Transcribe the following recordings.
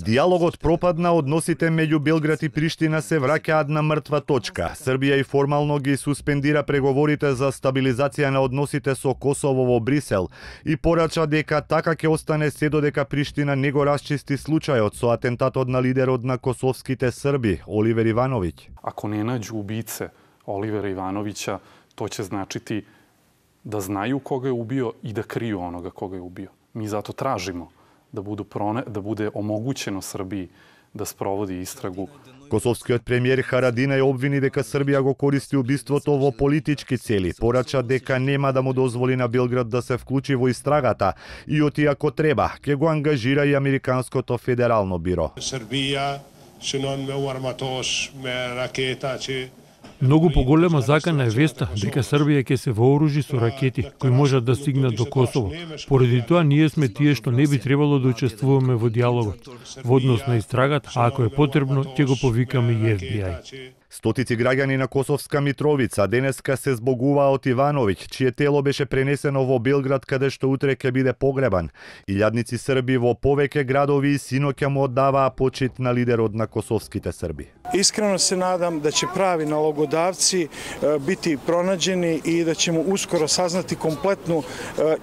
Диалогот пропадна, односите меѓу Белград и Приштина се враќаат на мртва точка. Србија и формално ги суспендира преговорите за стабилизација на односите со Косово во Брисел и порача дека така ќе остане се додека Приштина не го расчисти случајот со атентатот на лидерот на косовските Срби, Оливер Ивановиќ. Ако не наđu ubice Olivera Ivanovića, to će značiti da znaju koga je ubio i da kriju onoga koga je ubio. Mi zato tražimo da bude omogućeno Srbiji da sprovodi istragu. Косовскиот премиер Харадина ја обвини дека Србија го користи убиството во политички цели, порача дека нема да му дозволи на Белград да се вклучи во истрагата и оти ако треба, ќе го ангажира и Американското федерално биро. Србија синон ме арматош ме ракета че Многу поголема закана е веста дека Србија ќе се вооружи со ракети кои можат да стигнат до Косово. Поради тоа ние сме тие што не би требало да учествуваме во диалогот, во однос на истрагата, а ако е потребно, ќе го повикаме и FBI. Стотици граѓани на Косовска Митровица денеска се збогуваа од Ивановиќ, чие тело беше пренесено во Белград, каде што утре ќе биде погребан. Илјадници Срби во повеќе градови и синоќа му оддаваа почит на лидерот на косовските Срби. Искрено се надам да ќе прави налогодавци biti pronađeni i da ćemo uskoro saznati kompletnu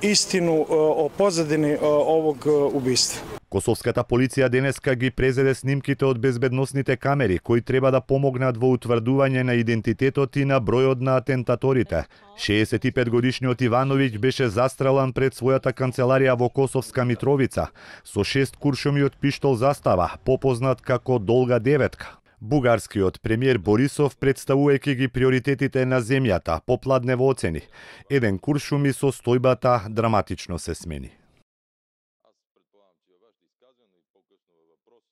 istinu o pozadini ovog ubistva. Косовската полиција денеска ги презеде снимките од безбедносните камери, кои треба да помогнат во утврдување на идентитетот и на бројот на атентаторите. 65-годишниот Ивановиќ беше застрелан пред својата канцеларија во Косовска Митровица со 6 куршуми од пиштол застава, попознат како Долга деветка. Бугарскиот премиер Борисов, представувајќи ги приоритетите на земјата, попладне во оцени. Еден куршум и состојбата драматично се смени.